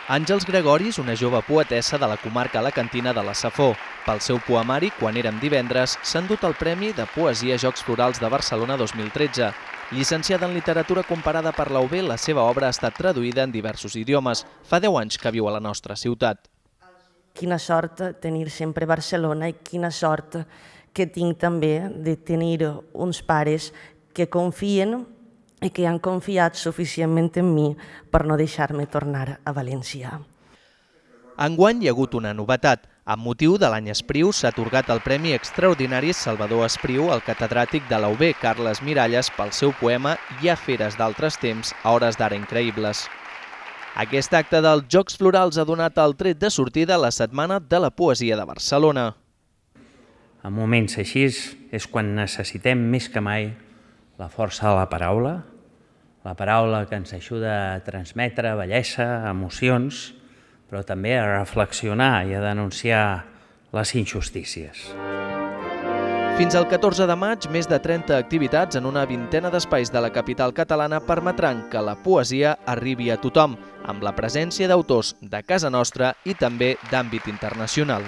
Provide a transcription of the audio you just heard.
Àngels Gregoris, una jove poetessa de la comarca alacantina de la Safor. Pel seu poemari, Quan érem divendres, s'ha endut el Premi de Poesia Jocs Florals de Barcelona 2013. Llicenciada en literatura comparada per la UB, la seva obra ha estat traduïda en diversos idiomes. Fa 10 anys que viu a la nostra ciutat. Quina sort tenir sempre Barcelona i quina sort que tinc també de tenir uns pares que confien i que han confiat suficientment en mi per no deixar-me tornar a València. Enguany hi ha hagut una novetat. Amb motiu de l'any Espriu s'ha atorgat el Premi Extraordinari Salvador Espriu al catedràtic de la UB, Carles Miralles, pel seu poema Hi ha feres d'altres temps, a hores d'ara increïbles. Aquest acte dels Jocs Florals ha donat el tret de sortida a la Setmana de la Poesia de Barcelona. En moments així és quan necessitem més que mai la força de la paraula que ens ajuda a transmetre bellesa, emocions, però també a reflexionar i a denunciar les injustícies. Fins al 14 de maig, més de 30 activitats en una vintena d'espais de la capital catalana permetran que la poesia arribi a tothom, amb la presència d'autors de casa nostra i també d'àmbit internacional.